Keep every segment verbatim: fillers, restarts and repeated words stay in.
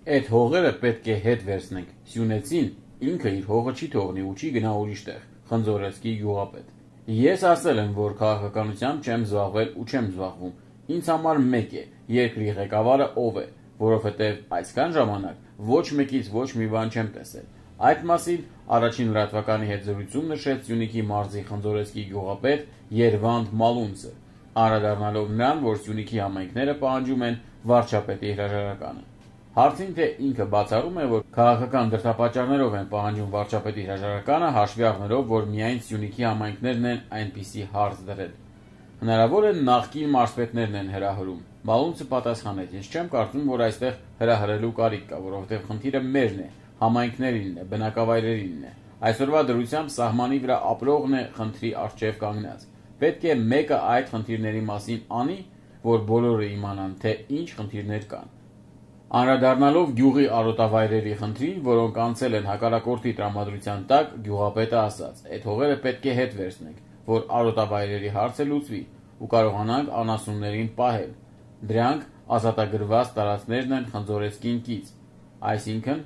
Այդ հողերը պետք է հետ վերցնենք, Սյունեցին ինքը իր հողը չի թողնի ու չի գնա ուրիշ տեղ, խնձորեսկի գյուղապետ։ Ես ասել եմ, որ քաղաքականությամբ չեմ զբաղվել ու չեմ զբաղվում, ինձ համար մեկ է, երկրի ղեկավարը ով է, որովհետև այսքան ժամանակ ոչ մեկից ոչ մի բան չեմ տեսել։ Այդ մասին առաջին լրատվականի հետ զրույցում նշեց Սյունիքի մարզի խնձորեսկի գյուղապետ Երվանդ Մալունցը, անդրադառնալով նրան, որ Սյունիքի համայնքները պահանջում են վարչապետի հրաժարականը։ Հարցին, թե ինքը բացառում է, որ քաղաքական դրդապատճառներով են պահանջում վարչապետի հրաժարականը, հաշվի առնելով, որ միայն Սյունիքի համայնքներն են այնպիսի հարց դրել։ Հնարավոր է նախկին մարզպետներն են հրահրում։ Մալունցը պատասխանեց. Ես չեմ կարծում, որ այստեղ հրահրելու կարիք կա, որովհետև խնդիրը մերն է, համայնքներինն է, բնակավայրերինն է։ Այսօրվա դրությամբ սահմանի վրա ապրողն է խնդրի առջև կանգնած։ Պետք է մեկը այդ խնդիրների մասին անի, որ բոլորը իմանան, թե ինչ խնդիրներ կան։ Անդրադառնալով գյուղի արոտավայրերի խնդրին, որոնք անցել են հակառակորդի տրամադրության տակ, գյուղապետը ասաց. Այդ հողերը պետք է հետ վերցնենք, որ արոտավայրերի հարցը լուծվի ու կարողանանք անասուններին պահել։ Դրանք ազատագրված տարածքներն են խնձորեսկին կից։ Այսինքն,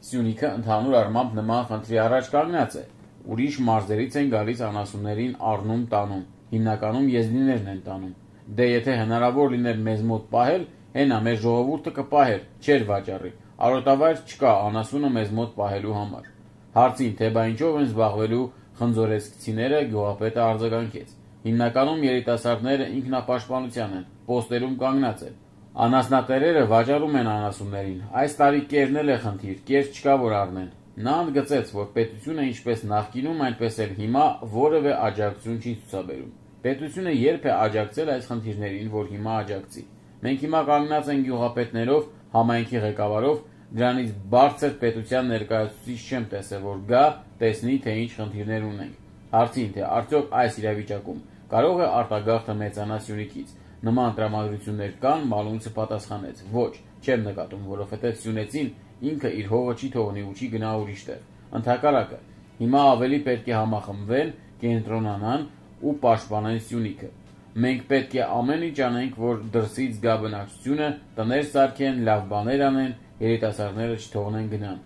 Սյունիքը ընդհանուր առմամբ նման խնդրի առաջ կանգնած է։ Ուրիշ մարզերից են գալիս անասուններին առնում տանում, հիմնականում եզնիներն են տանում։ Դե եթե հնարավոր լիներ մեզ մոտ պահել, հենա մեր ժողովուրդը կպահեր, չէր վաճառի։ Արոտավայր չկա անասունը մեզ մոտ պահելու համար։ Հարցին, թե բա ինչով են զբաղվելու խնձորեսկցիները, գյուղապետը արձագանքեց. Հիմնականում երիտասարդները ինքնապաշտպանության են, պոստերում կանգնած են։ Անասնատերերը վաճառում են անասուններին։ Այս տարի կերն էլ է խնդիր, կեր չկա որ առնեն։ Նա ընդգծեց, որ պետությունը ինչպես նախկինում, այնպես էլ հիմա որևէ աջակցություն չի ցուցաբերում։ Պետությունը երբ է աջակցել այս խնդիրներին, որ հիմա աջակցի։ Մենք հիմա կանգնած ենք գյուղապետներով, համայնքի ղեկավարով, դրանից բարձր պետության ներկայացուցիչ չեմ տեսել, որ գա, տեսնի, թե ինչ խնդիրներ ունենք։ Հարցին, թե արդյոք այս իրավիճակում կարող է արտագաղթը մեծանա Սյունիքից, նման տրամադրություններ կան, Մալունցը պատասխանեց. Ոչ, չեմ նկատում, որովհետև Սյունեցին ինքը իր հողը չի թողնի ու չի գնա ուրիշ տեղ։ Ընդհակառակը, հիմա ավելի պետք է համախմբվեն, կենտրոնանան ու պաշտպանեն Սյունիքը։ Մենք պետք է ամեն ինչ անենք, որ դրսից գա բնակչությունը, տներ սարքեն, լավ բաներ անեն, երիտասարդները չթողնեն գնան։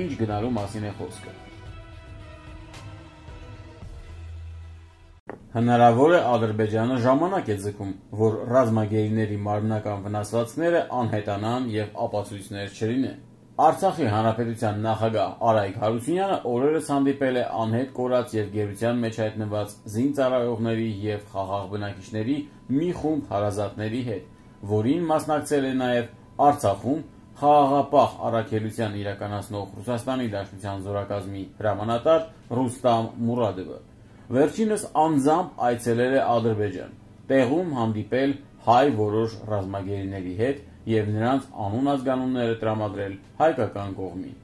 Ինչ գնալու մասին է խոսքը։ Հնարավոր է Ադրբեջանը ժամանակ է ձգում, որ ռազմագերիների մարմնական վնասվածքները անհետանան եւ ապացույցներ չլինեն։ Արցախի հանրապետության նախագահ Արայք Հարությունյանը օրերս հանդիպել է անհետ կորած եւ գերության մեջ հայտնված զինծառայողների եւ խաղաղ բնակիչների մի խումբ հարազատների հետ, որին մասնակցել է նաեւ Արցախում խաղաղապահ առաքելության իրականացնող Ռուսաստանի Դաշնության զորակազմի հրամանատար Ռուստամ Մուրադովը։ Վերջինս անձամբ այցելել է Ադրբեջան, տեղում հանդիպել հայ որոշ ռազմագերիների հետ եւ նրանց անուն ազգանունները տրամադրել հայկական կողմին։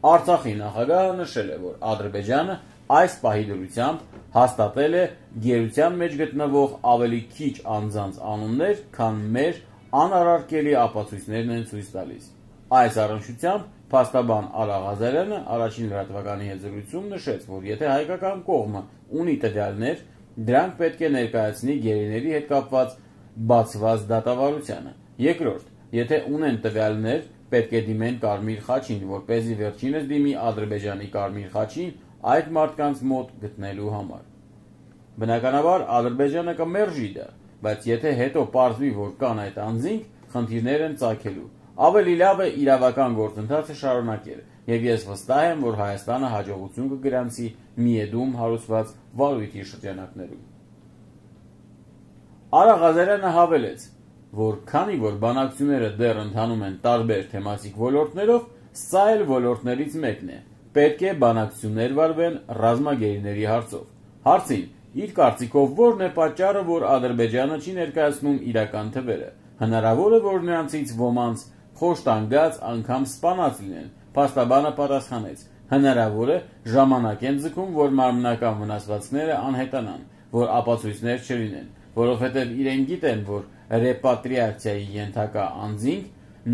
Արցախի նախագահը նշել է, որ Ադրբեջանը այս պահի դրությամբ հաստատել է գերության մեջ գտնվող ավելի քիչ անձանց անուններ, քան մեր անարարկելի ապացույցներն են ցույց տալիս։ Այս առնչությամբ փաստաբան Արա Ղազարյանը առաջին լրատվականի հետ զրույցում նշեց, որ եթե հայկական կողմը ունի տվյալներ, դրանք պետք է ներկայացնի գերիների հետ կապված բացված դատավարությանը։ Երկրորդ, եթե ունեն տվյալներ, պետք է դիմեն Կարմիր խաչին, որպեսզի վերջինս դիմի Ադրբեջանի Կարմիր խաչին այդ մարդկանց մոտ գտնելու համար։ Բնականաբար Ադրբեջանը կմերժի դա, բայց եթե հետո պարզվի, որ կան այդ անձինք, խնդիրներ են ծագելու։ Ավելի լավ է իրավական գործընթացը շարունակել, եւ ես վստահ եմ, որ Հայաստանը հաջողություն կգրանցի Միեդում հարուցված վարույթի շրջանակներում։ Արա Ղազարյանը հավելեց, որ քանի որ բանակցությունները դեռ ընթանում են տարբեր թեմատիկ ոլորտներով, սա էլ ոլորտներից մեկն է։ Պետք է բանակցություններ վարվեն ռազմագերիների հարցով։ Հարցին, իր կարծիքով ո՞րն է պատճառը, որ Ադրբեջանը չի ներկայացնում իրական թվերը։ Հնարավոր է, որ նրանցից ոմանց խոշտանգած անգամ սպանած լինեն։ Փաստաբանը պատասխանեց. հնարավոր է ժամանակ են ձգում, որ մարմնական վնասվածքները անհետանան, որ ապացույցներ չլինեն, որովհետև իրենք գիտեն, որ ռեպատրիացիայի ենթակա անձինք,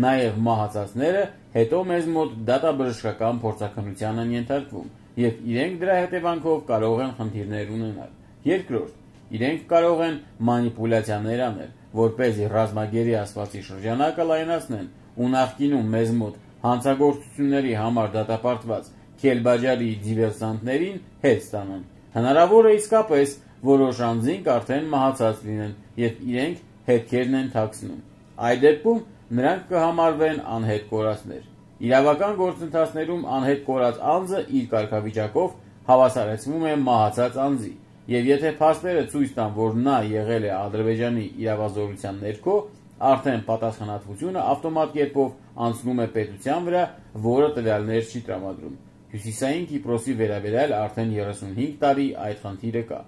նաև մահացածները հետո մեզ մոտ դատաբժշկական փորձաքննության են ենթարկվում, եւ իրենք դրա հետևանքով կարող են խնդիրներ ունենալ։ Երկրորդ, իրենք կարող են մանիպուլյացիաներ անել, որպեսզի ռազմագերի ասվածի շրջանակը լայնացնեն ու նախկինում մեզ մոտ հանցագործությունների համար դատապարտված Քելբաջարի դիվերսանտներին հետ ստանան։ Հնարավոր է իսկապես որոշ անձինք արդեն մահացած լինեն և իրենք հետքերն են թաքցնում։ Այդ դեպքում նրանք կհամարվեն անհետ կորածներ։ Իրավական գործընթացներում անհետ կորած անձը իր կարգավիճակով հավասարեցվում է մահացած անձի, և եթե փաստերը ցույց տան, որ նա եղել է Ադրբեջանի իրավազորության ներքո, արդեն պատասխանատվությունը ավտոմատ կերպով անցնում է պետության վրա, որը տվյալներ չի տրամադրում։ Հյուսիսային Կիպրոսի վերաբերյալ արդեն երեսունհինգ տարի այդ խնդիրը կա։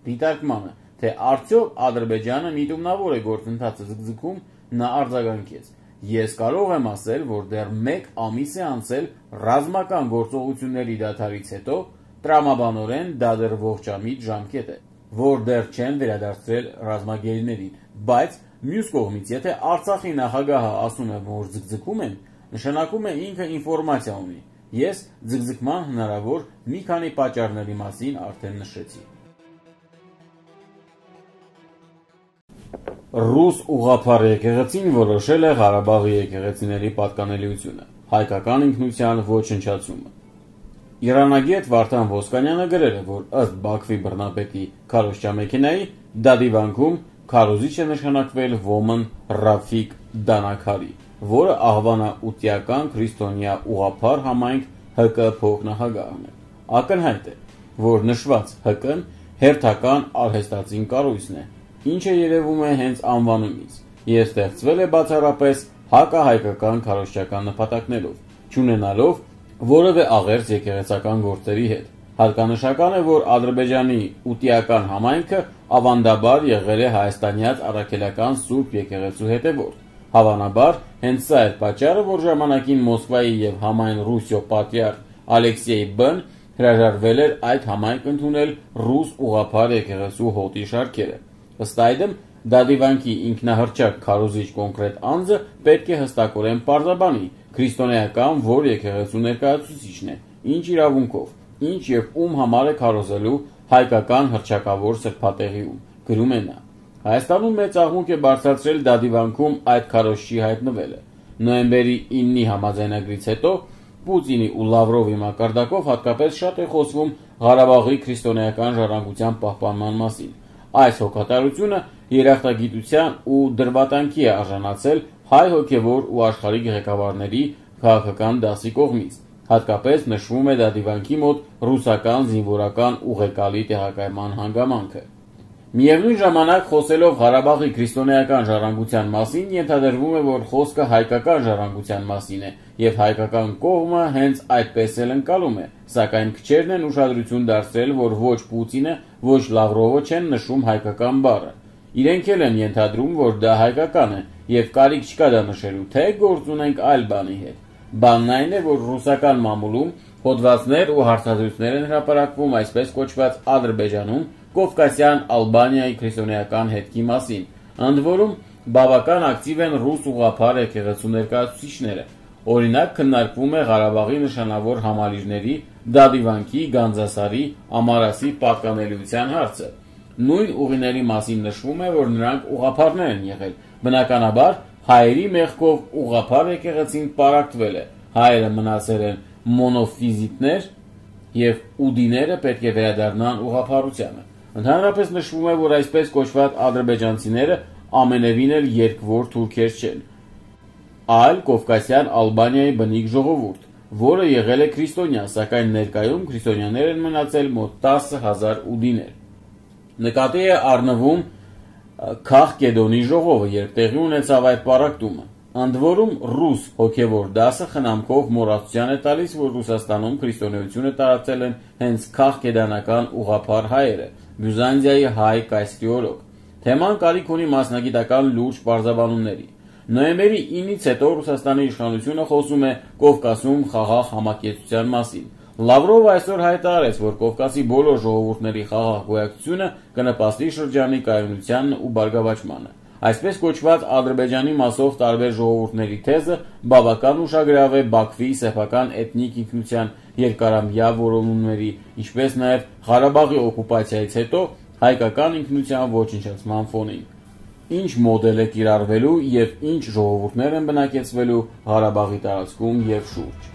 Դիտարկմանը, թե արդյոք Ադրբեջանը միտումնավոր է գործընթացը ձգձգում, նա արձագանքեց. «Ես կարող եմ ասել, որ դեռ մեկ ամիս է անցել ռազմական գործողությունների դադարից հետո, տրամաբանորեն դա դեռ ողջամիտ ժամկետ է, որ դեռ չեն վերադարձրել ռազմագերիներին, բայց մյուս կողմից, եթե Արցախի նախագահը ասում է, որ ձգձգում են, նշանակում է ինքը ինֆորմացիա ունի։ Ես ձգձգման հնարավոր մի քանի պատճառների մասին արդեն նշեցի»։ Ռուս ուղղափառ եկեղեցին որոշել է Ղարաբաղի եկեղեցիների պատկանելիությունը, հայկական ինքնության ոչնչացումը։ Իրանագետ Վարդան Ոսկանյանը գրել է, որ ըստ Բաքվի բռնապետի քարոզչամեքենայի դադիվանքում քարոզիչ է նշանակվել ոմն Ռաֆիկ Դանաքարի, որը աղվանաուտիական քրիստոնյա ուղղափառ համայնք Հ Կ փոխնախագահն է։ Ակնհայտ է, որ նշված Հ Կ-ն հերթական արհեստածին կառույցն է, ինչը երևում է հենց անվանումից, և ստեղծվել է բացառապես հակահայկական քարոզչական նպատակներով, չունենալով որևէ աղերս եկեղեցական գործերի հետ։ Հատկանշական է, որ Ադրբեջանի ուտիական համայնքը ավանդաբար եղել է հայաստանյաց առաքելական Սուրբ եկեղեցու հետևորդ։ Հավանաբար, հենց սա էր պատճառը, որ ժամանակին Մոսկվայի և համայն Ռուսիո պատրիարք Ալեքսեյ Բ-ն հրաժարվել էր այդ համայնք ընդունել ռուս ուղղափառ եկեղեցու հոտի շարքերը։ Ըստ այդմ, դադիվանքի ինքնահռչակ քարոզիչ կոնկրետ անձը պետք է հստակորեն պարզաբանի քրիստոնեական որ եկեղեցու ներկայացուցիչն է, ինչ իրավունքով, ինչ և ում համար է քարոզելու հայկական հռչակավոր սրբատեղիում, գրում է նա։ Հայաստանում մեծ աղմուկ է բարձրացրել դադիվանքում այդ քարոզչի հայտնվելը։ Նոյեմբերի իննի համաձայնագրից հետո Պուտինի ու Լավրովի մակարդակով հատկապես շատ է խոսվում Ղարաբաղի քրիստոնեական ժառանգության պահպանման մասին։ Այս հոգատարությունը երախտագիտության ու դրվատանքի է արժանացել հայ հոգևոր ու աշխարհիկ ղեկավարների քաղաքական դասի կողմից։ Հատկապես նշվում է դադիվանքի մոտ ռուսական զինվորական ուղեկալի տեղակայման հանգամանքը։ Միևնույն ժամանակ, խոսելով Ղարաբաղի քրիստոնեական ժառանգության մասին, ենթադրվում է, որ խոսքը հայկական ժառանգության մասին է, և հայկական կողմը հենց այդպես էլ ընկալում է, սակայն քչերն են ուշադրություն դարձրել, որ ոչ Պուտինը, ոչ Լավրովը չեն նշում հայկական բառը։ Իրենք էլ են ենթադրում, որ դա հայկական է, և կարիք չկա դա նշելու, թե գործ ունենք այլ բանի հետ։ Բանն այն է, որ ռուսական մամուլում հոդվածներ ու հարցազրույցներ են հրապարակվում այսպես կոչված Ադրբեջանում Կովկասյան Ալբանիայի քրիստոնեական հետքի մասին, ընդ որում բավական ակտիվ են ռուս ուղղափառ եկեղեցու ներկայացուցիչները։ Օրինակ քննարկվում է Ղարաբաղի նշանավոր համալիրների Դադիվանքի, Գանձասարի, Ամարասի պատկանելիության հարցը։ Նույն ուղիների մասին նշվում է, որ նրանք ուղղափառներ են եղել։ Բնականաբար, հայերի մեղքով ուղղափառ եկեղեցին պարակտվել է, հայերը մնացել են մոնոֆիզիտներ և ուդիները պետք է վերադառնան ուղղափառությանը։ Ընդհանրապես նշվում է, որ այսպես կոչված ադրբեջանցիները ամենևին էլ երկվոր թուրքեր չեն, այլ Կովկասյան Ալբանիայի բնիկ ժողովուրդ, որը եղել է քրիստոնյա, սակայն ներկայում քրիստոնյաներ են մնացել մոտ տասը հազար ուդիներ։ Նկատի է առնվում Քաղկեդոնի ժողովը, երբ տեղի ունեցավ այդ պարակտումը։ Ընդ որում ռուս հոգևոր դասը խնամքով մոռացության է տալիս, որ Ռուսաստանում քրիստոնեությունը տարածել են հենց քաղկեդանական ուղղափառ հայերը, Բյուզանդիայի հայ կայսրիոլոգ։ Թեման կարիք ունի մասնագիտական լուրջ պարզաբանումների։ Նոյեմբերի իննից հետո Ռուսաստանի իշխանությունը խոսում է Կովկասում խաղաղ համակեցության մասին։ Լավրովը այսօր հայտարարեց, որ Կովկասի բոլոր ժողովուրդների խաղաղ գոյակցությունը կնպաստի շրջանի կայունությանն ու բարգավաճմանը։ Այսպես կոչված Ադրբեջանի մասով տարբեր ժողովուրդների թեզը բավական ուշագրավ է Բաքվի սեփական էթնիկ ինքնության երկարամյա որոնումների, ինչպես նաև Ղարաբաղի օկուպացիայից հետո հայկական ինքնության ոչնչացման ֆոնին։ ինչ մոդել է կիրառվելու և ինչ ժողովուրդներ են բնակեցվելու Ղարաբաղի տարածքում և շուրջ։